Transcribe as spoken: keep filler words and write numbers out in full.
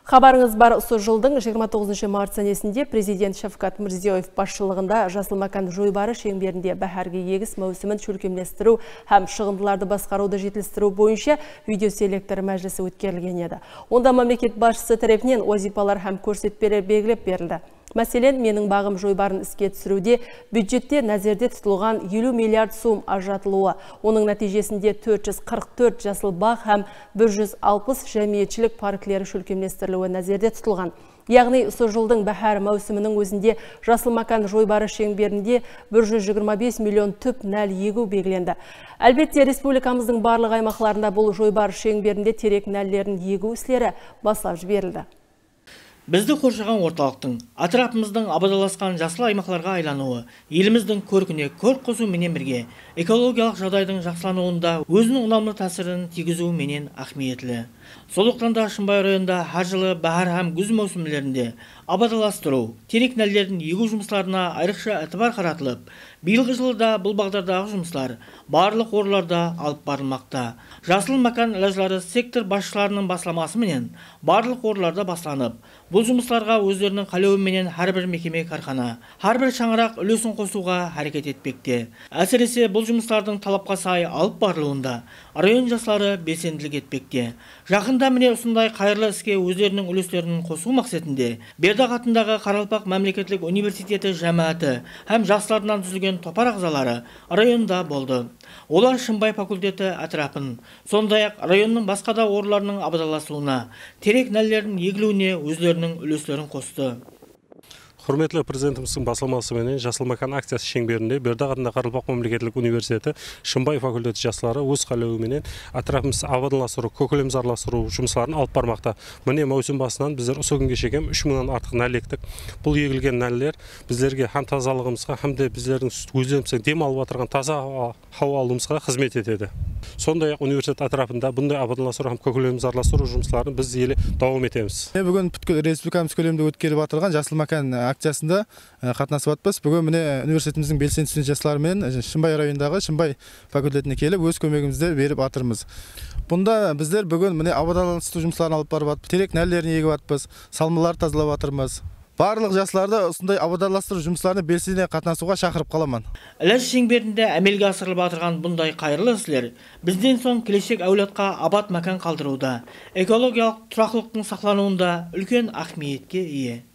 Xabarıńız bar, usı jıldıń jigirma toǵızınshı mart sánesinde Prezident Shavkat Mirziyoev basshılıǵında Jasıl mákan joybarı sheńberinde báhárgi egis máwsimin shólkemlestiriw hám shıǵındılardı basqarıwdı jetilistiriw boyınsha videoselektor májilisi ótkerilgen edi. Onda mámleket basshısı tárepinen wazıypalar hám kórsetpeler belgilep berildi. Máselen, Meniń baǵım joybarın iske túsiriwde byudjette názerde tutılǵan eliw milliard sum ajıratılıwı, onıń nátiyjesinde tórt júz qırq tórt jasıl baǵ hám bir júz alpıs jámiyetshilik parkleri shólkemlestiriliwi názerde tutılǵan. Yaǵnıy, usı jıldıń báhár máwsiminiń ózinde Jasıl mákan joybarı sheńberinde bir júz jigirma bes million túp nál egiw belgilendi. Álbette, respublikamızdıń barlıq aymaqlarında bul joybarı sheńberinde terek nállerin egiw isleri baslap jiberildi. Bizdi qorshaǵan ortalıqtıń, átirapımızdıń abadanlasqan jasıl aymaqlarǵa aylanıwı, elimizdiń kórkine kórk qosıw menen birge, ekologiyalıq jaǵdaydıń jaqsılanıwında óziniń unamlı tásirin tiygiziw menen áhmiyetli. Sonlıqtan da Shımbay rayonında hár jılı báhár hám gúz máwsimlerinde abadanlastırıw, terek nállerin egiw jumıslarına ayrıqsha itibar qaratılıp, bıyılǵı jılı da bul baǵdardaǵı jumıslar barlıq orınlarda alıp barılmaqta. Jasıl mákan ilajları sektor basshılarınıń baslaması menen barlıq orınlarda baslanıp, bul jumıslarǵa ózleriniń qálewi menen hár bir mekeme-kárxana, hár bir shańaraq úlesin qosıwǵa háreket etpekte. Ásirese, bul jumıslardıń talapqa say alıp barılıwında rayon jasları belsendilik etpekte. Jaqında mine usınday qayırlı iske ózleriniń úleslerin qosıw maqsetinde Berdaq atındaǵı Qaraqalpaq mámleketlik universiteti jámááti hám jaslardınan dúzilgen topar aǵzaları rayonda boldı. Olar Shımbay fakulteti átirapın, sonday-aq, rayonnıń basqa da orınlarınıń abadanlasıwına, terek nálleriniń egiliwine ózleriniń úleslerin qostı. Húrmetli Prezidentimizdiń baslaması menen Jasıl mákan akciyası sheńberinde Berdaq atındaǵı Qaraqalpaq mámleketlik universiteti Shımbay fakulteti jasları óz qálewi menen átirapımızdı abadanlastırıw, kókilemzarlastırıw jumısların alıp barmaqta. Mine, máwsim basınan bizler usı kúnge shekem úsh mıńnan artıq nál ektik. Bul egilgen náller bizlerge hám tazalıǵımızǵa, hám de bizlerdiń ózlerimizdiń dem alıp atırǵan taza hawa, hawa alıwımızǵa xızmet etedi. Sonday-aq, universitet átirapında bunday abadanlastırıw hám kókilemzarlastırıw jumısların biz ele dawam etemiz. Mine, búgin pútkil respublikamız kóleminde ótkerilip atırǵan Jasıl mákan akciyasında, e, qatnasıp atpız. Búgin, mine, universitetimizdiń belsendi student jasları menen, e, Shımbay rayonındaǵı Shımbay fakultetine kelip, óz kómegimizdi berip atırmız. Bunda bizler búgin, mine, abadanlastırıw jumısların alıp barıp atpız, terek nállerin egip atpız, salmalardı tazalap atırmız. Barlıq jaslardı usınday abadanlastırıw jumıslarına belsene qatnasıwǵa shaqırıp qalaman. Ilaj sheńberinde ámelge asırılıp atırǵan bunday qayırlı isler bizden soń keleshek áwladqa abat mákan qaldırıwda, ekologiyalıq turaqlılıqtıń saqlanıwında úlken áhmiyetke iye.